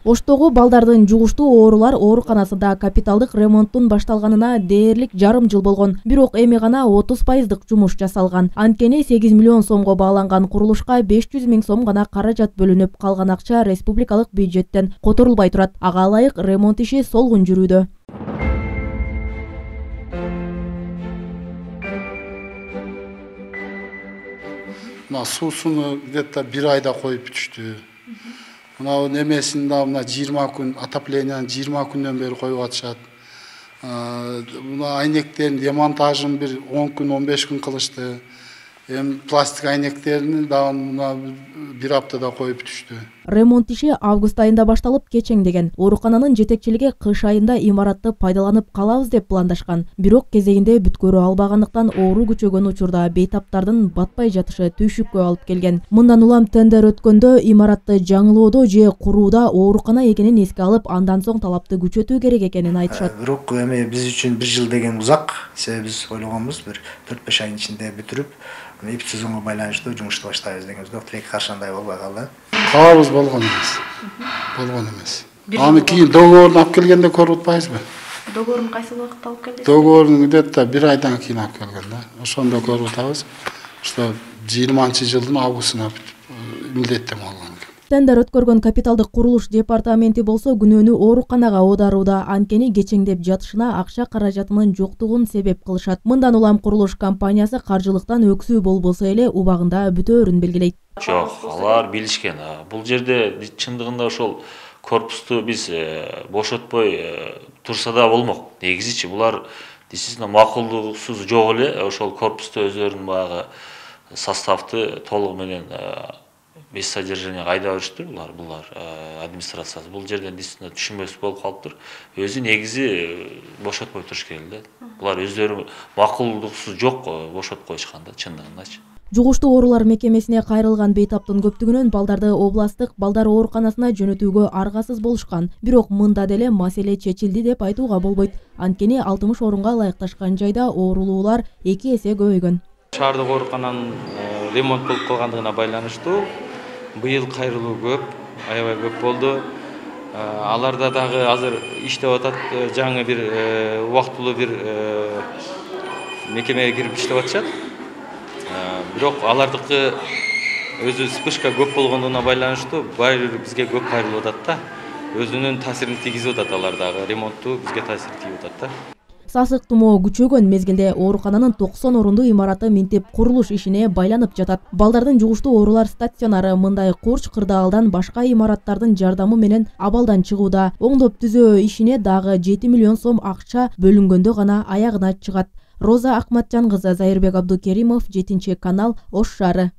Оштогу балдардын жугуштуу оорулар ооруканасында капиталдык ремонттун башталганына дээрлик жарым жыл болгон. Бирок эми гана 30% жумуш жасалган. Анткени 8 миллион сомго бааланган курулушка 500 миң сом гана каражат бөлүнүп, калган акча республикалык бюджеттен которулбай турат. Ага ылайык ремонт иши солгун жүрүүдө. Суусуну где-то 1 айда коюп бүтүштү. Мына немесин да мына 20 күн отопленияны 20 күндөн бери коюп атышат. Мына айнектердин демонтажын 10 күн 15 күн кылышты. Пластик айнектерин да мына 1 аптада коюп бүтүштү. Ремонт иши август айында башталып кечеңдеген. Оорукананын жетекчилиги кыш айында имаратты пайдаланып калабыз деп пландашкан. Бирок кезегинде бүткөрө албагандыктан оору күчөгөн учурда бейтаптардын батпай жатышы түйшүккө алып келген. Мындан улам тендер өткөндө имаратты жаңылоодо же курууда оорукана экенин эске алып, андан соң талапты күчөтүү керек экенин айтышат. Бирок эми биз үчүн 1 жыл деген узак. Себеби биз ойлогонбуз 4-5 айдын ичинде бүтүрүп, эпид сезонго байланыштуу жумушту баштайбыз деген бирок тилек каршандай болбой калды. Калабыз болгон эмес. Аны кийин договорун алып келгенде көрүп атпайбызбы? Договорун кайсы убакытта алып келдиңиз? Договорун где-то 1 айдан кийин алып келген да. Ошондо көрүп атабыз. Что 20-жылдын августуна милдеттенме алган. Тендер өткөргөн капиталдык курулуш департаменти болсо күнөөнү ооруканага оодарууда, анткени кечеңдеп жатышына акча каражатынын жоктугун себеп кылышат. Мындан улам курулуш компаниясы каржылыктан өксүү болбосо эле убагында бүтөөрүн белгилейт. Жок, алар билишкен. Бул жерде чындыгында ошол корпусту биз бошотпой турса да болмок. Негизичи булар действительно макулдугсуз жок эле ошол корпусту өздөрүнүн баягы составты толугу менен без содержания айдап жүрүштүр булар администрациясы. Бул жерден действительно түшүнбөс болуп калыптыр. Өзү негизи бошотпой туруш керек эле. Булар өздөрү макулдуксуз жок бошотуп коюшкан да чындыгындачы. Жугуштуу оорулар мекемесине кайрылган бейтаптын көптүгүнөн балдарды областтык балдар ооруканасына жөнөтүүгө аргасыз болушкан. Бирок мында деле маселе чечилди деп айтууга болбойт. Анткени 60 орунга ылайыкташкан жайда оорулуулар 2 эсе көбөйгөн. Шаардык оорукананын ремонт болуп калгандыгына байланыштуу быйыл кайрылуу көп, аябай көп болду. Аларда дагы азыр иштеп атат, жаңы бир убактылуу бир мекемеге кирип иштеп атышат. Бирок алардыкы өзү вспышка көп болгондугуна байланыштуу баары бир бизге көп кайрылып атат да. Өзүнүн таасирин тийгизип атат алардагы ремонтту бизге таасир тийип атат да. Сасык тумоо күчөгөн мезгилде оорукананын 90 орундуу имараты минтип курулуш ишине байланып жатат. Балдардын жугуштуу оорулар стационары мындай курч кырдаалдан башка имараттардын жардамы менен абалдан чыгууда. Оңдоп түзөө ишине дагы 7 миллион сом акча бөлүнгөндө гана аягына чыгат. Роза Акматжан кызы, Зайырбек Абдукеримов, 7 канал, Ош шаары.